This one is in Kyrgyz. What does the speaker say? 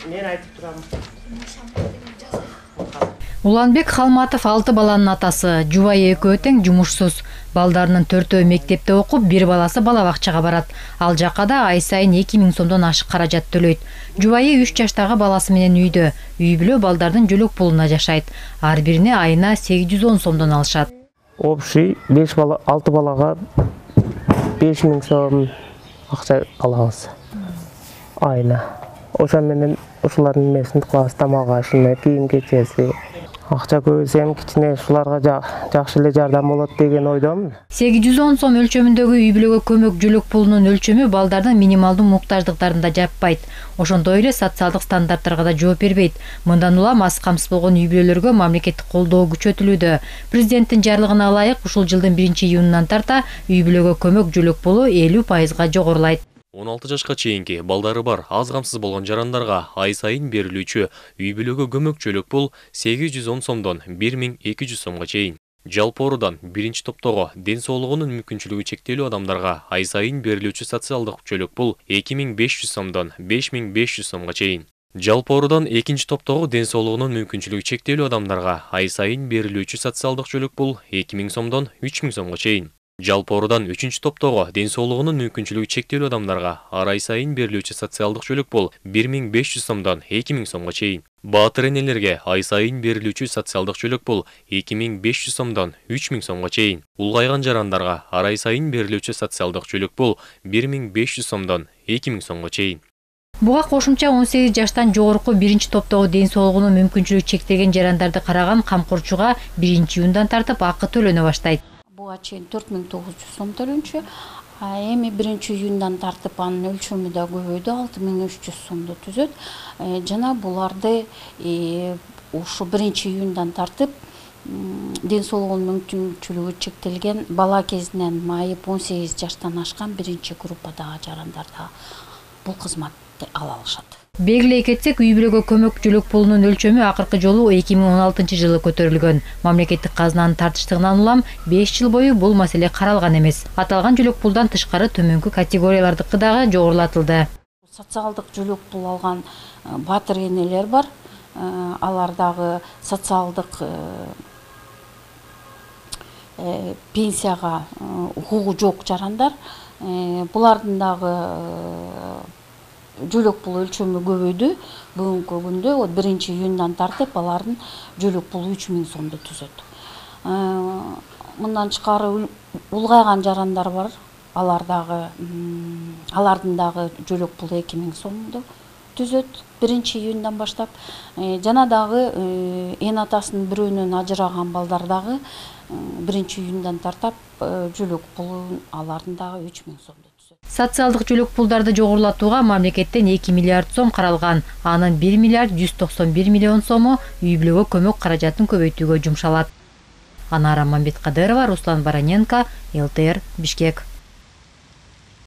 Мен айтып турам. Уланбек Халматов 6 баланын атасы. Жубайы экөө тең жумушсуз. Балдарынын 4-өө мектепте окуп, бир баласы бала бакчага барат. Ал жакка да ай сайын 2000 сомдон ашык каражат төлөйт. Жубайы 3 жаштагы баласы менен үйдө. Үй бүлө балдардын жөлөк пулуна жашайт. Ар бирине айына 810 сомдон алышат. Общий 6 балага 5000 сом акча алабыз. Айына. Ошо менен ушулардын эмесин кылабыз, тамак ашына, кийим кечеси. Акча көбөйсөм кичине ушуларга жакшы эле жардам болот деген ойдомун. 810 сом өлчөмүндөгү үй бүлөгө көмөк жөлөк пулунун өлчөмү балдардын минималдуу муктаждыктарын да жаппайт. Ошондой эле социалдык стандарттарга да жооп бербейт. Мындан улам аз камсыз болгон үй бүлөлөргө мамлекеттик колдоо күчөтүлүүдө. Президенттин жарлыгына ылайык ушул жылдын 1-июнунан тарта үй бүлөгө көмөк жөлөк пулу 50%га жогорулайт. 16 жашка чейинки балдары бар аз камсыз болгон жарандарга ай сайын берилүүчү үй бүлөгө көмөк жөлөк пул 810 сомдон 1200 сомго чейин. Жалпоорудан 1-топтогу ден соолугунун мүмкүнчүлүгү чектелүү адамдарга ай сайын берилүүчү социалдык жөлөк пул 2500 сомдон 5500 сомго чейин. Жалпоорудан 2-топтогу ден соолугунун мүмкүнчүлүгү чектелүү адамдарга ай сайын берилүүчү социалдык жөлөк пул 2000 сомдон 3000 сомго чейин. Жалпоорудан 3-топтогу ден соолугунун мүмкүнчүлүгү чектелүү адамдарга ай сайын берилүүчү социалдык жөлөк пул 1500 сомдон 2000 сомго чейин. Баатыр энелерге ай сайын берилүүчү социалдык жөлөк пул 2500 сомдон 3000 сомго чейин. Улгайган жарандарга ай сайын берилүүчү социалдык жөлөк пул 1500 сомдон 2000 сомго чейин. Буга кошумча 18 жаштан жогорку 1-топтогу ден соолугунун мүмкүнчүлүгү чектелген жарандарды караган камкорчуга 1-июндан тартып акы төлөнө баштайт. Буга чейин 4900 сом төлөнчү. Эми 1-июндан тартып анын өлчөмү да көбөйдү, 6300 сомду түзөт. Жана буларды ушу 1-июндан тартып ден соолугунун мүмкүнчүлүгү чектелген бала кезинен майып 18 жаштан ашкан 1-группадагы жарандар да бул кызматты ала алышат. Белгилей кетсек, үй бүлөгө көмөк жөлөк пулунун өлчөмү акыркы жолу 2016 жылы көтөрүлгөн. Мамлекеттик казынанын тартыштыгынан улам 5 жыл бою бул маселе каралган эмес. Аталган жөлөк пулдан тышкары төмөнкү категориялардыкы дагы жогорулатылды. Социалдык жөлөк пул алган баатыр энелер бар. Алар дагы социалдык пенсияга укугу жок жарандар. Булардын дагы жөлөк пул өлчөмү көбөйдү. Бүгүнкү күндө 1-июндан тартып алардын жөлөк пулу 3000 сомду түзөт. Мындан тышкары улгайган жарандар бар. Алардын дагы жөлөк пулу 2000 сомду түзөт 1-июндан баштап. Жана дагы эн атасынын бирөөнөн ажыраган балдар дагы 1-июндан тартап жөлөк пулу алардын дагы 3000 сомду. Социалдык жөлөк пулдарды жогорулатууга мамлекеттен 2 миллиард сом каралган. Анын 1 миллиард 191 миллион сому үй бүлөгө көмөк каражатын көбөйтүүгө жумшалат. Анара Мамбеткадырова, Руслан Бараненко, ЛТР, Бишкек.